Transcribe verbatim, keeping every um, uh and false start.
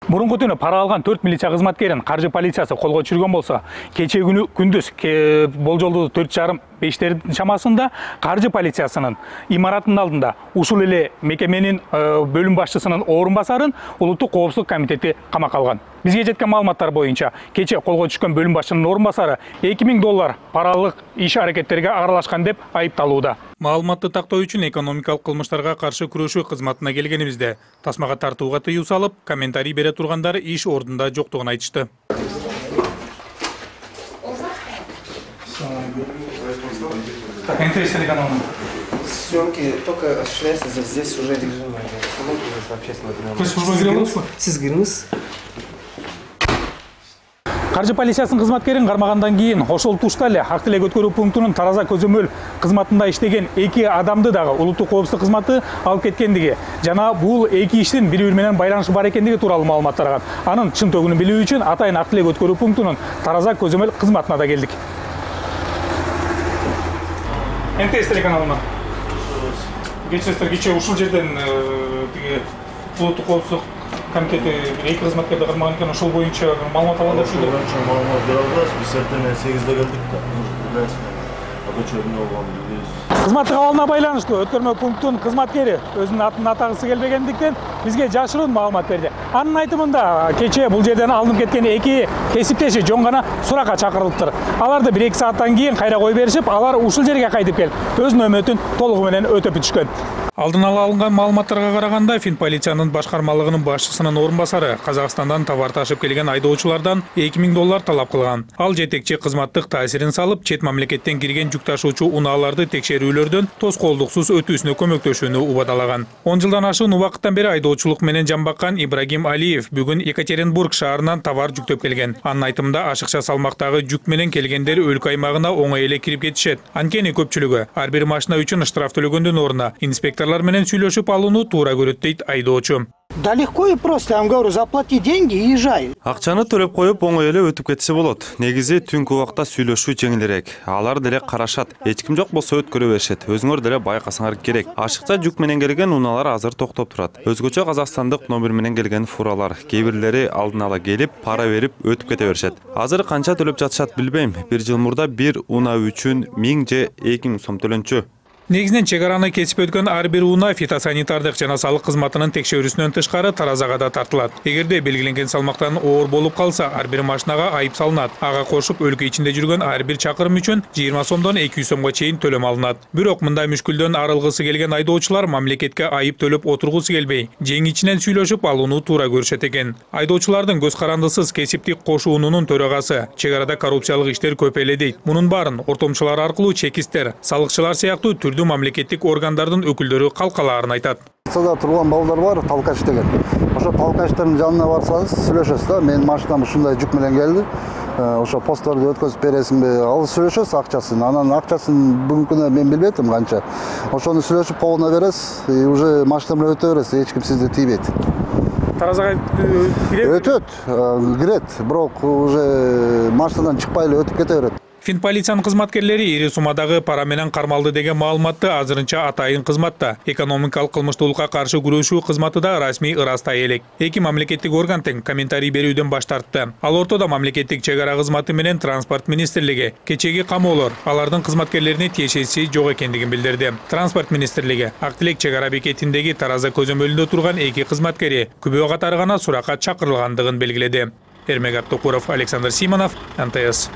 Мурунку түнү пара алган төрт милиция кызматкерин каржы полициясы колго түшүргөн болсо, кечээ күнү күндүз болжолдуу төрт жарым бештер чамасында каржы полициясынын имаратынын алдында ушул эле мекеменин бөлүм башчысынын орун басарын улуттук коопсуздук комитети камакка алган. Бизге жеткен маалыматтар боюнча, кечээ колго түшкөн бөлүм башчынын орун басары эки миң доллар паралык иш аракеттерге аралашкан деп айыпталууда. Маалыматты тактоо үчүн экономикалык кылмыштарга каршы күрөшүү кызматына келгенибизде тасмага тартууга тыюу салып, комментарий бере тургандар иш ордунда жоктугун айтышты. Съемки только осуществляются здесь уже режим общественного. Сиз киріңіз. Каржы полициясынын кызматкерин кармагандан кийин ошол тушта эле ак тилек өткөрүү пунктунун тараза көзөмөл кызматында иштеген эки адамды дагы улуттук коопсуздук кызматы алып кеткендиги жана бул эки иштин бири-бири менен байланышы бар экендиги тууралуу маалымат тараган. Анын чын төгүнүн билүү үчүн атайын ак тилек өткөрүү пунктунун тараза көзөмөл кызматына да келдик. эн тэ эс телеканалына кечиресиздер, кечээ ушул жерден тиги улуттук коопсуздук комитети эки кызматкерди кармаган экен, ошол боюнча маалымат алган деп боюнча маалымат бере албайбыз. Биз эртең сегизде келдик да. Билесизби? Эмне болгонун билбейбиз. Кызматтык абалына байланыштуу өткөрмө пунктунун кызматкери өзүнүн атын атагысы келбегендиктен бизге жашыруун маалымат берди. Анын айтымында кечээ бул жерден алынып кеткен эки кесиптеши жөн гана суракка чакырылыптыр. Аларды бир эки сааттан кийин кайра кой беришип, алар ушул жерге кайтып келип, өз нөөмөтүн толугу менен өтөп бүтүшкөн. Алдын ала алынган маалыматтарга караганда, Финполициянын башкармалыгынын башчысынын орун басары Казакстандан товар ташып келген айдоочулардан эки миң доллар талап кылган. Ал жетекчи кызматтык таасирин салып, чет мамлекеттен кирген жүк ташуучу унааларды текшерүүлөрдөн тоскоолдуксуз өтүүсүнө көмөктөшүүнү убадалаган. он жылдан ашык убакыттан бери айдоочулук менен жамбаккан Ибрагим Алиев бүгүн Екатеринбург шаарынан товар жүктөп келген. Анын айтымында ашыкча салмактагы жүк менен келгендер өлкө аймагына оңой эле кирип кетишет. Анткени көпчүлүгү ар бир машина үчүн штраф төлөгөндүн ордуна инспектор менен сүйлөшүп алууну туура көрөт дейт айдоочу. Да легко и просто, я вам говорю, заплати деньги и езжай. Акчаны төлөп коюп оңой эле өтүп кетсе болот. Негизи түнкү убакта сүйлөшүү жеңилирээк. Алар деле карашат. Эч ким жок болсо өткөрө беришет. Өзүңөр деле байкасаңар керек. Ашыкча жүк менен келген унаалар азыр токтоп турат. Өзгөчө казакстандык номер менен келген фуралар, кээ бирлери алдын ала келип, пара берип өтүп кете беришет. Азыр канча төлөп жатышат билбейм. Бир жыл мурда бир унаа үчүн миң же эки миң сом төлөнчү. Негизинен чек араны кесип өткөн ар бир унаа фитосанитардык жана салык кызматынын текшерүүсүнөн тышкары таразага да тартылат. Эгерде белгиленген салмактан оор болуп калса, ар бир машинага айып салынат. Ага кошуп өлкө ичинде жүргөн ар бир чакырым үчүн жыйырма сомдон эки жүз сомго чейин төлөм алынат. Бирок мындай мүшкүлдөн арылгысы келген айдоочулар мамлекетке айып төлөп отургусу келбей, жең ичинен сүйлөшүп алууну туура көрүшөт экен. Айдоочулардын көз карандысыз кесиптик кошуунунун төрагасы чек арада коррупциялык иштер көп эле дейт. Мунун баарын ортомчулар аркылуу чекистер, салыкчылар сыяктуу мамлекеттик органдардын өкүлдөрү калкалаарын айтат. Сада турган балдар бар, талкач деген. Ошо талкачтардын жанына барсаңыз, сүйлөшөсүз да. Менин машинам ушундай жүк менен келди. Ошо постторду өткөзүп бересиңби? Ал сүйлөшөсүз акчасын. Анан акчасын бүгүнкү күнү мен билбейтим канча. Ошону сүйлөшүп колуна бересиз, и уже машина менен өтө бересиз, эч ким сизди тийбейт. Таразага кирет? Өтөт, кирет, бирок уже машинадан чыкпай эле өтүп кете берет. Финполициянын кызматкерлери ири суммадагы пара менен кармалды деген маалыматты азырынча атайын кызматта, экономикалык кылмыштуулукка каршы күрөшүү кызматы да расмий ырастай элек. Эки мамлекеттик орган тең комментарий берүүдөн баш тартты. Ал ортодо мамлекеттик чек ара кызматы менен транспорт министрлиги кечеги камоолор алардын кызматкерлерине тиешеси жок экендигин билдирди. Транспорт министрлиги ак тилек чек ара бекетиндеги тараза көзөмөлүндө турган эки кызматкери күбө катары гана суракка чакырылгандыгын белгиледи. Эрмек Артукуров, Александр Симонов, эн тэ эс.